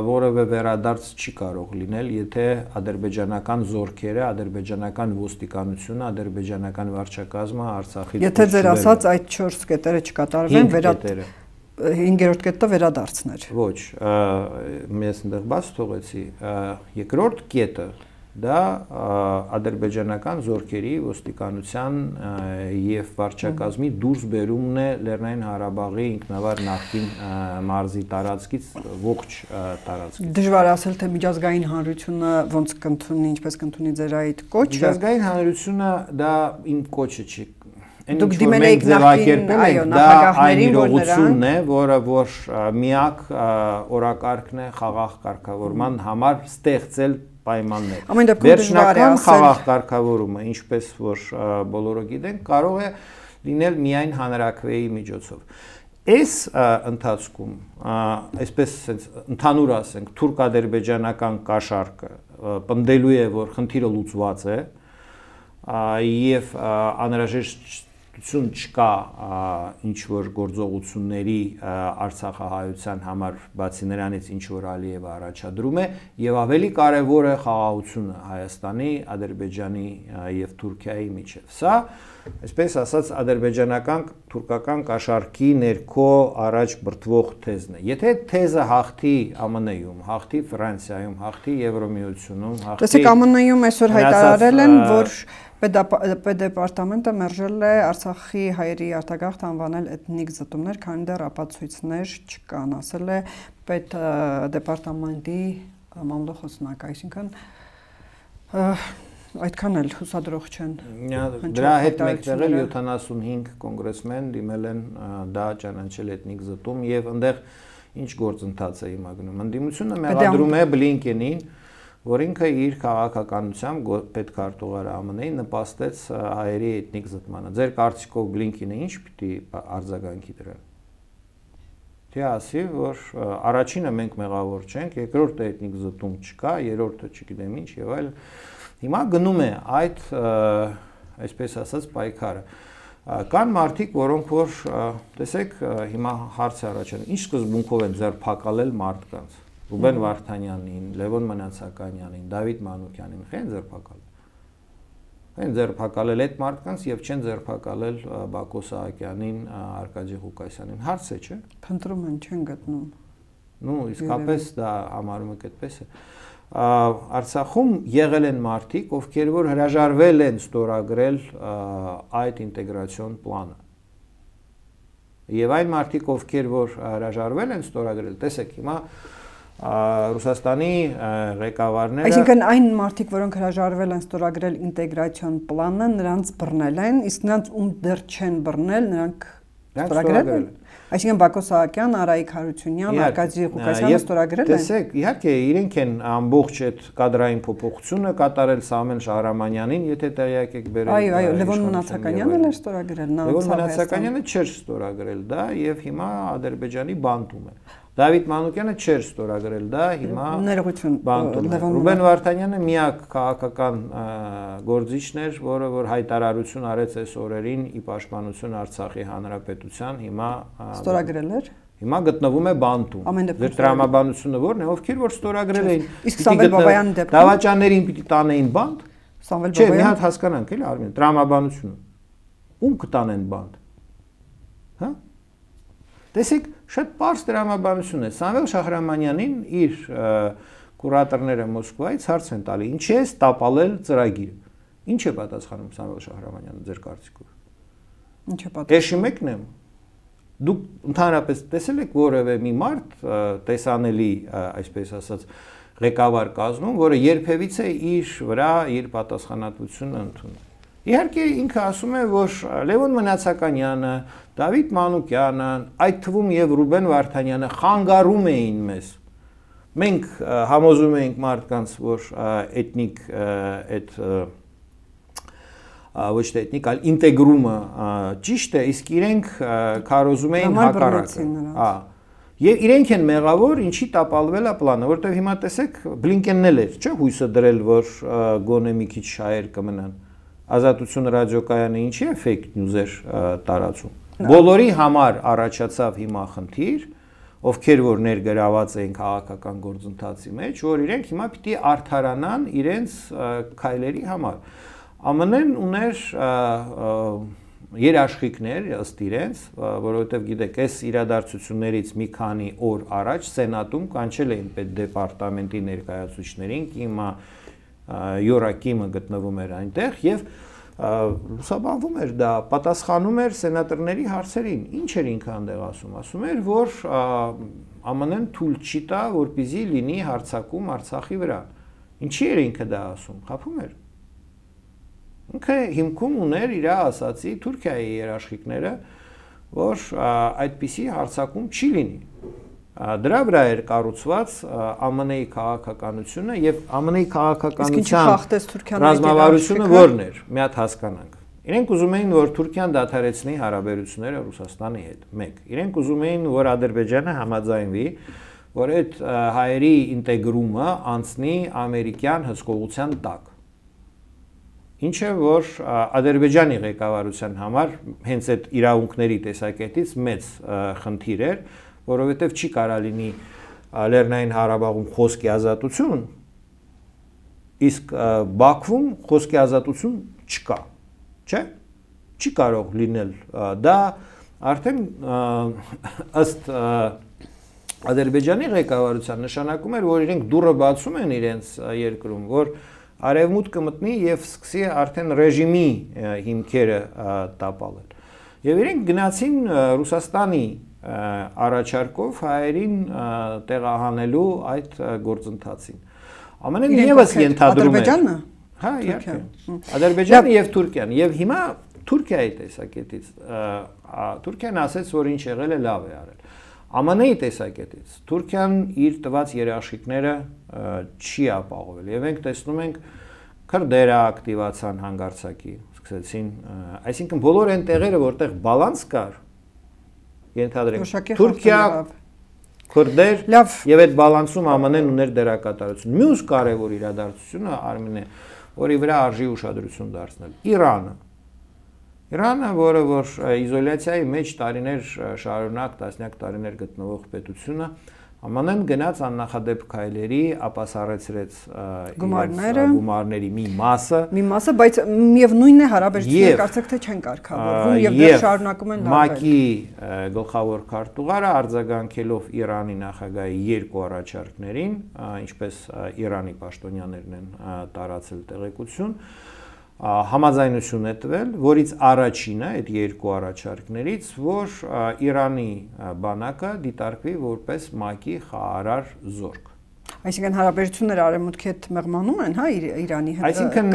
որևէ վերադարձ չի կարող լինել, եթե ադրբեջանական զորքերը, ադրբեջանական ոստիկանությունը, ադրբեջանական վարչակազմը Արցախից Եթե ձեր ասած այդ չորս կետերը չկատարվեն, վերադարձ հինգերորդ կետը վերադարձներ։ Ոչ, ես այնտեղ բաց թողեցի, երկրորդ կետը դա ադրբեջանական զորքերի ոստիկանության եւ վարչակազմի դուրս բերումն է Լեռնային Ղարաբաղի ինքնավար նախկին մարզի տարածքից ողջ տարածքից։ Դժվար ասել, թե միջազգային հանրությունը ոնց կընդունի, ինչպես կընդունի ձեր այդ կոչը։ Միջազգային հանրությունը դա իմ կոչը չի։ Դուք դիմել եք նախկին, այո, նախագահներին, որ իրողությունն է, որը որ միակ օրակարգն է խաղաղ կարգավորման համար ստեղծել պայմաններ։ Վերջնական խաղաղ կարգավորումը, ինչպես որ բոլորը գիտեն, կարող է լինել միայն հանրաքվեի միջոցով։ Այս ընթացքում, այսպես ընդհանուր ասենք, թուրք-ադրբեջանական կաշառքը պնդելու է, որ խնդիրը լուծված է եւ անհրաժեշտ չկա ինչ որ գործողությունների Արցախահայության համար, բացի նրանից ինչ որ Ալիևը առաջադրում է, եւ ավելի կարեւոր է խաղաղությունը Հայաստանի, Ադրբեջանի եւ Թուրքիայի միջեւ։ Սա, այսպես ասած, ադրբեջանական թուրքական կաշառքի ներքո առաջ բրդվող թեզն է։ Եթե թեզը հաղթի ԱՄՆ -ում, հաղթի Ֆրանսիայում, հաղթի Եվրոմիությունում, հաղթի Տեսեք, ԱՄՆ -ում այսօր հայտարարել են, որ Պետդեպարտամենտը մերժել է Արցախի հայերի արտագաղթ անվանել էթնիկ զտումներ, քանի դեռ ապացույցներ չկան, ասել է Պետդեպարտամենտի մամլոխոսնակը, այսինքն այդքան էլ հուսադրող չեն։ Դրա հետ մեկտեղ էլ յոթանասունհինգ կոնգրեսմեն դիմել են դա ճանաչել էթնիկ զտում եւ այնտեղ ինչ գործընթաց է հիմա գնում։ Ընդդիմությունը մեղադրում է Բլինկենին, որ ինքը իր քաղաքականությամբ պետքարտուղար ԱՄՆ-ին նպաստեց հայերի էթնիկ զտմանը։ Ձեր կարծիքով Բլինկենը ինչ պիտի արձագանքի դրան։ Թե ասի, որ առաջինը մենք մեղավոր չենք, երկրորդը էթնիկ զտում չկա, երրորդը չգիտեմ ինչ եւ այլ։ Հիմա գնում է այդ, այսպես ասած, պայքարը։ Կան մարդիկ, որոնք որ տեսեք, հիմա հարց է առաջանում, ինչ սկզբունքով են ձերբակալել մարդկանց։ Ռուբեն Վարդանյանին, Լևոն Մնացականյանին, Դավիթ Մանուկյանին խեն ձերբակալ։ Են ձերբակալել այդ մարդկանց եւ չեն ձերբակալել Բակո Սահակյանին, Արկադի Ղուկասյանին։ Հարց է, չէ՞։ Փնտրում են, չեն գտնում։ Ну, իսկապես դա համարում եք այդպես է։ Արցախում եղել են մարդիկ, ովքեր որ հրաժարվել են ստորագրել այդ ինտեգրացիոն պլանը։ Եվ այն մարդիկ, ովքեր որ հրաժարվել են ստորագրել, տեսեք, հիմա Ռուսաստանի ղեկավարները Այսինքն այն մարդիկ, որոնք հրաժարվել են ստորագրել ինտեգրացիոն պլանը, նրանց բռնել են, իսկ նրանց ում դեռ չեն բռնել, նրանք ստորագրել են։ Այսինքն Բակո Սահակյան, Արայիկ Հարությունյան, Արկադի Ղուկասյանը ստորագրել են։ Տեսեք, իհարկե իրենք են ամբողջ այդ կադրային փոփոխությունը կատարել Սամվել Շահրամանյանին, եթե տեղյակ եք բերել։ Այո, այո, Լևոն Մնացականյանն էլ էր ստորագրել, նա Լևոն Մնացակanyանը չէր ստորագրել դա եւ հիմա Ադրբեջանի բանտում է։ Դավիթ Մանուկյանը չէր ստորագրել դա, հիմա ներողություն Ռուբեն Վարդանյանը միակ քաղաքական գործիչն էր, որը որ հայտարարություն արեց այս օրերին ի պաշտպանություն Արցախի հանրապետության, հիմա ստորագրել էր։ Հիմա գտնվում է բանտում։ Ձեր տրամաբանությունը ո՞րն է, ովքեր որ ստորագրել էին։ Իսկ Սամվել Բաբայանի դեպքում դավաճաններին պիտի տանեին բանտ։ Սամվել Չէ, մի Բաբայանը հատ հասկանանք էլի Արմեն, տրամաբանությունը։ Ում կտանեն բանտ։ Հա? Տեսեք, շատ պարզ տրամաբանություն է։ Սամվել Շահրամանյանին իր կուրատորները Մոսկվայից հարց են տալի. «Ինչի է տապալել ծրագիրը»։ Ինչ է պատասխանում Սամվել Շահրամանյանը ձեր կարծիքով։ Ինչ է պատասխանում։ Էշի մեկն եմ։ Դուք ընդհանրապես տեսել եք որևէ մի մարդ տեսանելի, այսպես ասած, ղեկավար կազմում, որը երբևիցե իր վրա իր պատասխանատվությունը ընդունում։ Իհարկե ինքը ասում է, որ Լևոն Մնացականյանը, Դավիթ Մանուկյանը, այդ թվում եւ Ռուբեն Վարդանյանը խանգարում էին մեզ։ Մենք համոզում ենք մարդկանց, որ էթնիկ այդ ոչ թե էթնիկ, այլ ինտեգրումը ճիշտ է, իսկ իրենք քարոզում էին հակառակը։ Հա։ Եվ իրենք են մեղավոր, ինչի տապալվել է պլանը, որտեղ հիմա տեսեք Բլինկենն էլ էր, չէ՞, հույսը դրել, որ գոնե մի քիչ շահեր կմնան։ Ազատություն ռադիոկայանը ինչի է fake news-էր տարածում։ Բոլորի համար առաջացավ հիմա խնդիր, ովքեր որ ներգրաված էին քաղաքական գործընթացի մեջ, որ իրենք հիմա պիտի արդարանան իրենց քայլերի համար։ ԱՄՆ-ն ուներ երաշխիքներ ըստ իրենց, որովհետև գիտեք, այս իրադարձություններից մի քանի օր առաջ Սենատում կանչել էին պետդեպարտամենտի ներկայացուցիչներին, հիմա Յորակիմը գտնվում էր այնտեղ եւ լուսաբանվում էր դա, պատասխանում էր սենատորների հարցերին։ Ինչ էր ինքը այնտեղ ասում, ասում էր, որ ԱՄՆ-ն թույլ չի տա, որպեսզի լինի հարձակում Արցախի վրա։ Ինչի էր ինքը դա ասում, խափում էր։ Ինքը հիմքում ուներ իր ասացի Թուրքիայի երաշխիքները, որ այդպիսի հարձակում չի լինի։ Դրա վրա էր կառուցված ԱՄՆ-ի քաղաքականությունը եւ ԱՄՆ-ի քաղաքականության ռազմավարությունը ո՞րն էր։ Մի հատ հասկանանք։ Իրենք ուզում էին, որ Թուրքիան դադարեցնի հարաբերությունները Ռուսաստանի հետ։ մեկ։ Իրենք ուզում էին, որ Ադրբեջանը համաձայնվի, որ այդ հայերի ինտեգրումը անցնի ամերիկյան հսկողության տակ։ Ինչը որ Ադրբեջանի ղեկավարության համար հենց այդ իրավունքների տեսակետից մեծ խնդիր էր, որովհետև չի կարա լինի Լեռնային Ղարաբաղում խոսքի ազատություն, իսկ Բաքվում խոսքի ազատություն չկա, չէ՞։ Չի կարող լինել դա արդեն ըստ Ադրբեջանի ղեկավարության նշանակում էր, որ իրենք դուռը բացում են իրենց երկրում, որ արևմուտքը մտնի եւ սկսի արդեն ռեժիմի հիմքերը տապալել։ Եվ իրենք գնացին Ռուսաստանի առաջարկով հայերին տեղահանելու այդ գործընթացին։ ԱՄՆ-ն եւս ենթադրում է Ադրբեջանը։ Հա, իհարկե։ Ադրբեջանը եւ Թուրքիան։ Եվ հիմա Թուրքիայի տեսակետից Թուրքիան ասաց, որ ինչ եղել է լավ է արել։ ԱՄՆ-ի տեսակետից Թուրքիան իր տված երաշխիքները չի ապահովել եւ մենք տեսնում ենք քրդերը ակտիվացան հանգարցակի, սկսեցին, այսինքն բոլոր այն տեղերը, որտեղ բալանս կար, ենթադրենք Թուրքիա, քրդեր եւ այդ բալանսում ԱՄՆ-ն ուներ դերակատարություն։ Մյուս կարևոր իրադարձությունը Արմենը, որի վրա արժի ուշադրություն դարձնել, Իրանը։ Իրանը, որը որ իզոլյացիայի մեջ տարիներ շարունակ, տասնյակ տարիներ գտնվող պետությունը, Ամանեն գնաց աննախադեպ քայլերի, ապասարեցրեց գումարները, գումարների մի մասը, մի մասը, բայց միևնույնն է հարաբերությունները կարծեք թե չեն կարգավորվում եւ դեռ շարունակում են լարվել։ ՄԱԿ-ի գլխավոր քարտուղարը արձագանքելով Իրանի նախագահի երկու առաջարկներին, ինչպես Իրանի պաշտոնյաներն են տարածել տեղեկություն, համաձայնություն է տվել, որից առաջինը այդ երկու առաջարկներից, որ Իրանի բանակը դիտարկվի որպես ՄԱԿ-ի խաղարար զորք։ Այսինքն հարաբերությունները արևմուտքի հետ մեղմանում են, հա, Իրանի հետ։ Այսինքն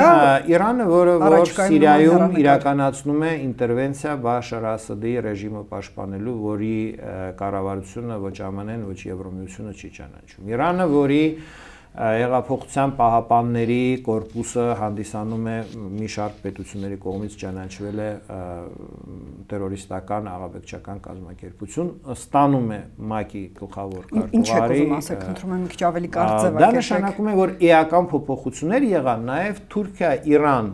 Իրանը, որը որ Սիրիայում իրականացնում է ինտերվենցիա Բաշար Ասադի ռեժիմը պաշտպանելու, որի կառավարությունը ոչ ԱՄՆ-ն, ոչ Եվրոմիությունը չի ճանաչում։ Իրանը, որի Հեղափոխության պահապանների կորպուսը հանդիսանում է մի շարք պետությունների կողմից ճանաչվել է տերորիստական աղաբեկչական կազմակերպություն, ստանում է ՄԱԿ-ի գլխավոր քարտուղարի։ Ինչ եք ուզում ասեք, խնդրում եմ մի քիչ ավելի կարճ ձևակերպեք։ Դա նշանակում է, որ էական փոփոխություններ եղան, նաև Թուրքիա-Իրան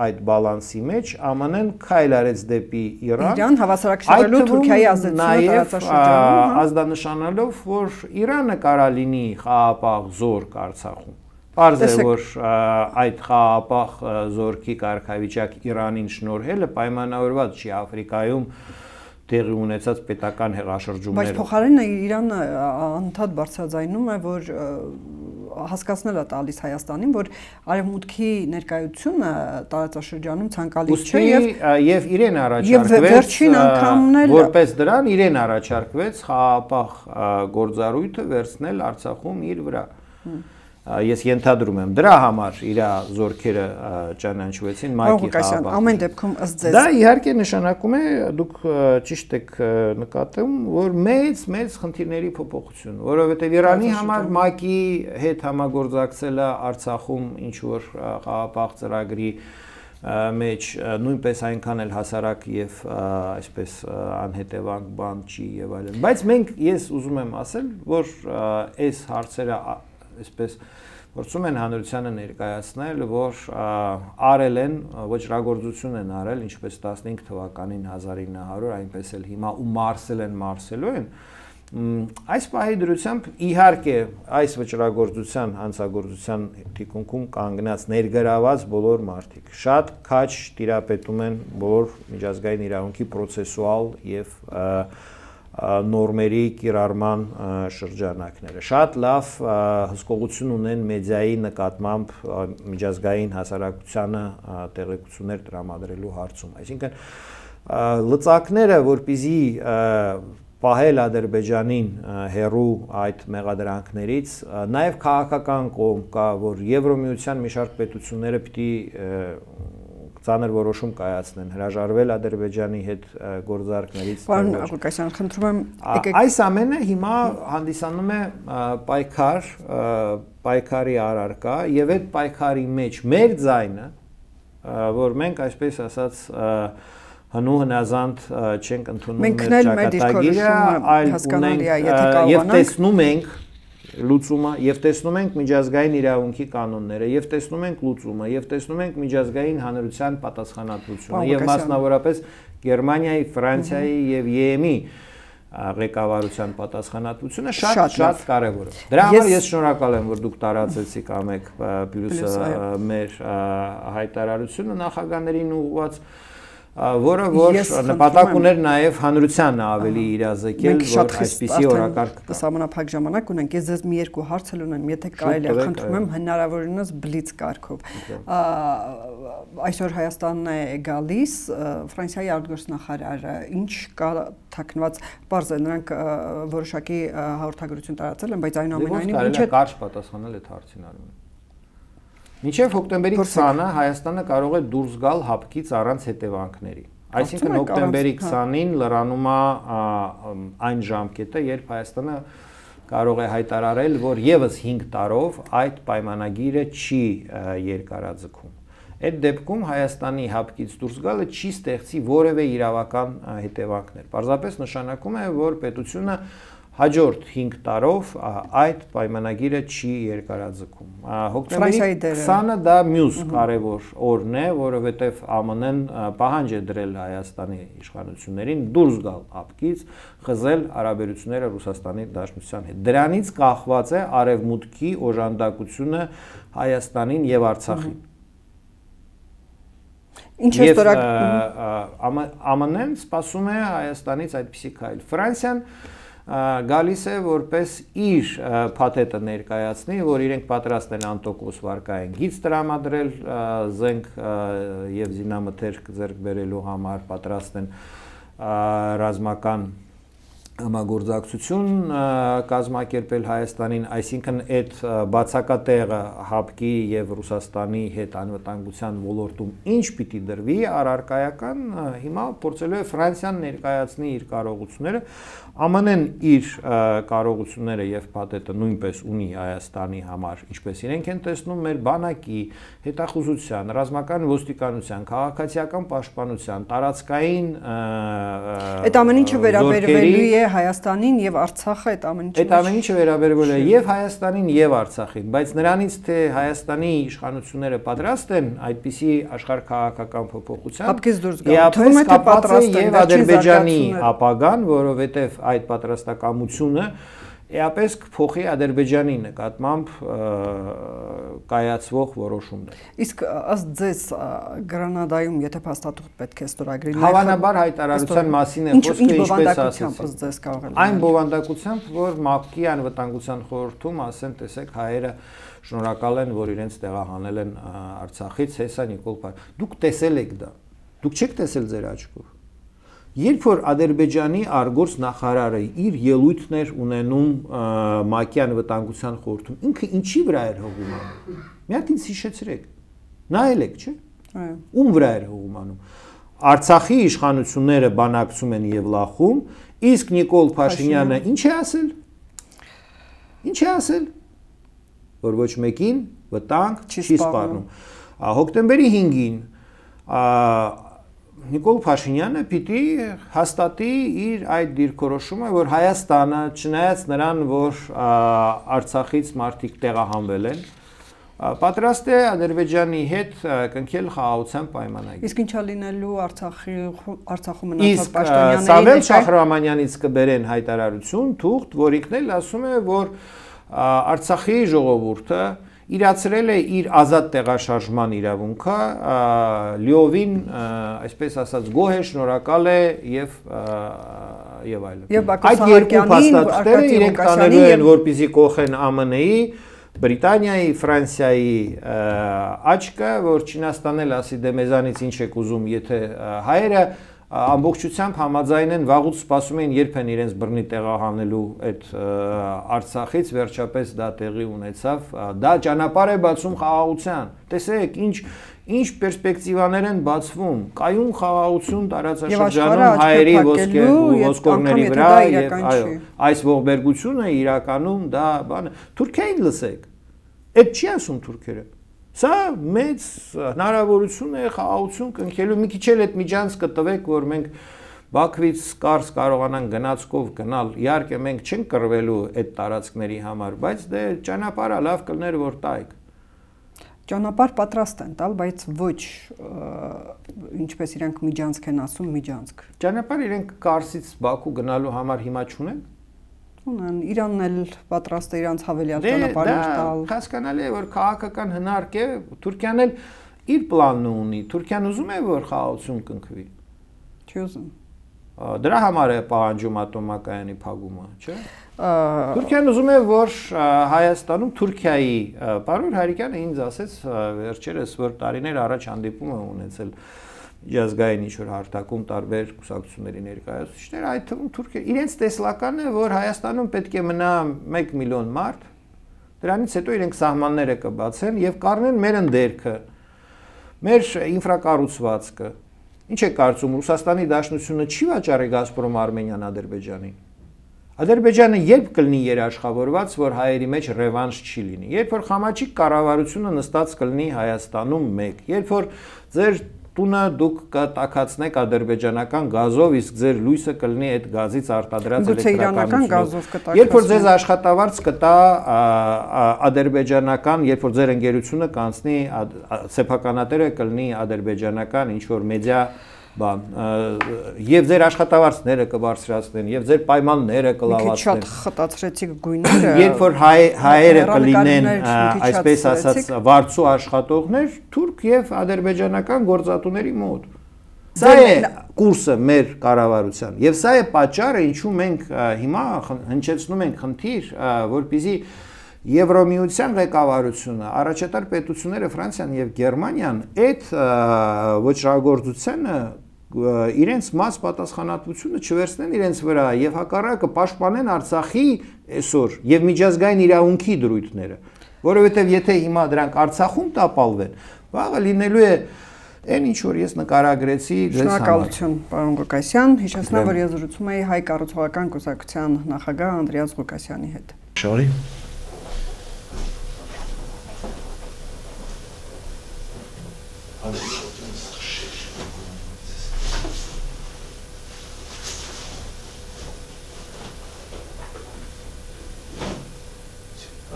այդ բալանսի մեջ ԱՄՆ-ն քայլ արեց դեպի Իրան։ Իրան հավասարակշռելու Թուրքիայի ազդեցությունը տարածաշրջանում, ազդանշանալով, որ Իրանը կարա լինի խաղաղապահ զորք Արցախում։ Պարզ է, որ այդ խաղաղապահ զորքի կարգավիճակ Իրանին շնորհելը պայմանավորված չի Աֆրիկայում տեղի ունեցած պետական հեղաշրջումները։ Բայց փոխարենը Իրանը անդադ բարձրաձայնում է, որ հասկացնել է տալիս Հայաստանին, որ արևմուտքի ներկայությունը տարածաշրջանում ցանկալի չէ եւ եւ իրեն առաջարկվեց որպես դրան իրեն առաջարկվեց խաղաղապահ գործառույթը վերցնել Արցախում իր վրա։ Ես ենթադրում եմ դրա համար իր զորքերը ճանաչվեցին ՄԱԿ-ի խաղաղապահ։ Ամեն դեպքում ըստ ձեզ դա իհարկե նշանակում է, դուք ճիշտ եք նկատում, որ մեծ մեծ խնդիրների փոփոխություն, որովհետև Իրանի համար ՄԱԿ-ի հետ համագործակցելը Արցախում ինչ որ խաղաղապահ ծրագրի մեջ նույնպես այնքան էլ հասարակ եւ այսպես անհետևանք բան չի եւ այլն։ Բայց մենք ես ուզում եմ ասել, որ այս հարցերը այսպես փորձում են հանրությանը ներկայացնել, որ արել են, ոչրագործություն են արել, ինչպես տասնհինգ թվականին հազար ինը հարյուր, այնպես էլ հիմա ու մարսել են, մարսելու են։ Այս պահի դրությամբ իհարկե այս վճռագործության, հանցագործության թիկունքում կանգնած ներգրաված բոլոր մարդիկ շատ քաչ տիրապետում են բոլոր միջազգային իրավունքի պրոցեսուալ եւ նորմերի կիրառման շրջանակները։ Շատ լավ հսկողություն ունեն մեդիայի նկատմամբ միջազգային հասարակությանը տեղեկություններ տրամադրելու հարցում։ Այսինքն լծակները, որպեսզի պահել Ադրբեջանին հերու այդ մեղադրանքներից, նաև քաղաքական կողմ կա, որ Եվրոմիության մի շարք պետությունները պիտի ծանր որոշում կայացնեն, հրաժարվել Ադրբեջանի հետ գործարքներից։ Պարոն Աղուկասյան, խնդրում եմ, այս ամենը հիմա հանդիսանում է պայքար, պայքարի առարկա եւ այդ պայքարի մեջ մեր ձայնը, որ մենք այսպես ասած հնու հնազանդ չենք ընդունում մեր ճակատագիրը, այլ ունենք եւ տեսնում ենք լուծումը եւ տեսնում ենք միջազգային իրավունքի կանոնները եւ տեսնում ենք լուծումը եւ տեսնում ենք միջազգային հանրության պատասխանատվությունը եւ մասնավորապես Գերմանիայի, Ֆրանսիայի եւ ԵՄ-ի ղեկավարության պատասխանատվությունը շատ շատ կարեւոր է։ Դրա համար ես շնորհակալ եմ, որ դուք տարածեցիք ամեկ պլյուսը մեր հայտարարությունը նախագահներին ուղղված, որը որ նպատակ ուներ նաև հանրությանը ավելի իրազեկել, որ այսպիսի օրակարգ կա։ Սահմանափակ ժամանակ ունենք, ես ձեզ մի երկու հարցեր ունեմ, եթե կարելի է, խնդրում եմ հնարավորինս բլից կարգով։ Այսօր Հայաստանն է գալիս, Ֆրանսիայի արտգործնախարարը ինչ կա թաքնված, պարզ է, նրանք որոշակի հաղորդագրություն տարածել են, բայց այնուամենայնիվ ինչ է կարճ պատասխանել այդ հարցին արում։ Մինչև հոկտեմբերի քսանը Հայաստանը կարող է դուրս գալ հապկից առանց հետևանքների։ Այսինքն հոկտեմբերի քսանին լրանում է այն ժամկետը, երբ Հայաստանը կարող է հայտարարել, որ եւս հինգ տարով այդ պայմանագիրը չի երկարաձգում։ Այդ դեպքում Հայաստանի հապկից դուրս գալը չի ստեղծի որևէ իրավական հետևանքներ։ Պարզապես նշանակում է, որ պետությունը հաջորդ հինգ տարով այդ պայմանագիրը չի երկարաձգում։ Հոկտեմբերի քսանը դա մյուս կարևոր օրն է, որովհետև ԱՄՆ-ն պահանջ է դրել Հայաստանի իշխանություններին դուրս գալ ափկից, խզել հարաբերությունները Ռուսաստանի Դաշնության հետ։ Դրանից կախված է արևմուտքի օժանդակությունը Հայաստանին եւ Արցախին։ Ինչ է ստորակ ԱՄՆ-ն սպասում է Հայաստանից այդպիսի քայլ։ Ֆրանսիան գալիս է որպես իր փաթեթը ներկայացնի, որ իրենք պատրաստ են անտոկոս վարկային գիծ տրամադրել, զենք եւ զինամթերք ձեռք բերելու համար, պատրաստ են ռազմական համագործակցություն կազմակերպել Հայաստանին, այսինքն այդ բացակատեղը ՀԱՊԿ-ի եւ Ռուսաստանի հետ անվտանգության ոլորտում ինչ պիտի դրվի, առարկայական հիմա փորձելու է Ֆրանսիան ներկայացնի իր կարողությունները, ԱՄՆ-ն իր կարողությունները եւ փաթեթը նույնպես ունի Հայաստանի համար, ինչպես իրենք են տեսնում մեր բանակի, հետախուզության, ռազմական ոստիկանության, քաղաքացիական պաշտպանության, տարածքային այդ ամեն ինչը վերաբերվելու է Հայաստանին եւ Արցախը այդ ամեն ինչը։ Այդ ամեն ինչը վերաբերվել է եւ Հայաստանին եւ Արցախին, բայց նրանից թե Հայաստանի իշխանությունները պատրաստ են այդպիսի աշխարհքաղաքական փոփոխության, ՀԱՊԿ-ից դուրս գալ, թվում է թե պատրաստ են եւ Ադրբեջանի ապագան, որովհետեւ այդ պատրաստակամությունը էապես կփոխի Ադրբեջանի նկատմամբ կայացվող որոշումներ։ Իսկ ըստ ձեզ Գրանադայում եթե փաստաթուղթ պետք է ստորագրի, հավանաբար հայտարարության մասին է խոսքը, ինչպես ասացի։ Այն բովանդակությամբ, որ ՄԱՊԿ-ի անվտանգության խորհրդում ասեն, տեսեք, հայերը շնորհակալ են, որ իրենց տեղահանել են Արցախից, հեսա Նիկոլ Փաշինյան։ Դուք տեսել եք դա։ Դուք չեք տեսել ձեր աչքով։ Երբ որ Ադրբեջանի արգործ նախարարը իր ելույթներ ունենում ՄԱԿ-ի անվտանգության խորհրդում, ինքը ինչի վրա էր հողում անում։ Մի հատ ինձ հիշեցրեք։ Նայել եք, չէ՞։ Այո։ Ում վրա էր հողում անում։ Արցախի իշխանությունները բանակցում են եւ լախում, իսկ Նիկոլ Փաշինյանը ինչ է ասել։ Ինչ է ասել։ Որ ոչ մեկին վտանգ չի սպառնում։ Հոկտեմբերի հինգին Նիկոլ Փաշինյանը պիտի հաստատի իր այդ դիրքորոշումը, որ Հայաստանը, չնայած նրան, որ Արցախից մարդիկ տեղահանվել են, պատրաստ է Ադրբեջանի հետ կնքել խաղաղության պայմանագիր։ Իսկ ինչա լինելու Արցախի Արցախում մնացած պաշտոնյաների։ պաշտոնյաների։ Իսկ Սամվել Շահրամանյանից կբերեն հայտարարություն, թուղթ, որ ինքն էլ ասում է, որ Արցախի ժողովուրդը իրացրել է իր ազատ տեղաշարժման իրավունքը, լիովին, այսպես ասած, գոհ է, շնորհակալ է եւ եւ այլն։ Այդ երկու փաստաթղթերը իրենք տանելու են, որպեսզի կողեն ԱՄՆ-ի, Բրիտանիայի, Ֆրանսիայի աչքը, որ Չինաստանն էլ ասի դե մեզանից ինչ եք ուզում, եթե հայերը ամբողջությամբ համաձայն են, վաղուց սպասում են, երբ են իրենց բռնի տեղահանելու այդ Արցախից, վերջապես դա տեղի ունեցավ, դա ճանապարհ է բացում խաղաղության։ Տեսեք, ինչ ինչ պերսպեկտիվաներ են բացվում, կայուն խաղաղություն տարածաշրջանում հայերի ոսկորների վրա եւ այո, այս ողբերգությունը իրականում դա բանը, Թուրքիային լսեք։ Այդ չի ասում թուրքերը։ Սա մեծ հնարավորություն է խաղաղություն կնքելու, մի քիչ էլ այդ միջանցքը տվեք, որ մենք Բաքվից կարս կարողանանք գնացքով գնալ, իհարկե մենք չենք կռվելու այդ տարածքների համար, բայց դե ճանապարհը լավ կլներ որ տայք։ Ճանապարհ պատրաստ են տալ, բայց ոչ ինչպես իրենք միջանցք են ասում, միջանցք։ Ճանապարհ իրենք Կարսից Բաքու գնալու համար հիմա չունեն։ Ունեն, Իրանն էլ պատրաստ է իրանց հավելյալ ճանապարհներ տալ։ Հասկանալի է, որ քաղաքական հնարք է, Թուրքիան էլ իր պլանն ունի։ Թուրքիան ուզում է, որ խաղաղություն կնքվի։ Չի ուզում։ Դրա համար է պահանջում ատոմակայանի փակումը, չէ՞։ Թուրքիան ուզում է, որ Հայաստանում Թուրքիայի պարոն Հարիկյանը ինձ ասեց վերջերս, որ տարիներ առաջ հանդիպում է ունեցել միջազգային ինչ-որ հարթակում տարբեր կուսակցությունների ներկայացուցիչներ, այդ թվում Թուրքիա իրենց տեսլականն է, որ Հայաստանում պետք է մնա մեկ միլիոն մարդ, դրանից հետո իրենք սահմանները կբացեն եւ կառնեն մեր ընդերքը, մեր ինֆրակառուցվածքը։ Ինչ է կարծում, Ռուսաստանի Դաշնությունը չի վաճառի Գազպրոմ Արմենիան Ադրբեջանին։ Ադրբեջանը երբ կլինի երաշխավորված, որ հայերի մեջ ռևանշ չի լինի, երբ որ Խամաչիկ կառավարությունը նստած կլինի Հայաստանում մեկ, երբ որ ձեր տունը դուք կտակացնեք ադրբեջանական գազով, իսկ ձեր լույսը կլինի այդ գազից արտադրած էլեկտրականությունով։ Երբ որ ձեզ աշխատավարձ կտա ադրբեջանական, երբ որ ձեր ընկերությունը կանցնի սեփականատերը կլինի ադրբեջանական ինչ որ մեդիա բան, եւ ձեր աշխատավարձները կբարձրացնեն, եւ ձեր պայմանները կլավացնեն։ Շատ խտացրեցիք գույները։ Երբ որ հայերը կլինեն, այսպես ասած, վարձու աշխատողներ, թուրք եւ ադրբեջանական գործատուների մոտ։ Սա է կուրսը մեր կառավարության, եւ սա է պատճառը, ինչու մենք հիմա հնչեցնում ենք խնդիր, որպեսզի Եվրոմիության ղեկավարությունը, առաջատար պետությունները Ֆրանսիան եւ Գերմանիան այդ ոչրագործությանը իրենց մաս պատասխանատվությունը չվերցնեն իրենց վրա եւ հակառակը պաշտպանեն Արցախի այսօր եւ միջազգային իրավունքի դրույթները, որովհետեւ եթե հիմա դրանք Արցախում տապալվեն, վաղը լինելու է այն ինչ որ ես նկարագրեցի ձեզ համար։ Շնորհակալություն, պարոն Ղուկասյան, հիշեցնեմ, որ ես զրուցում էի Հայ կառուցողական կուսակցության նախագահ Անդրեաս Ղուկասյանի հետ։ Շնորհի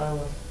Правильно.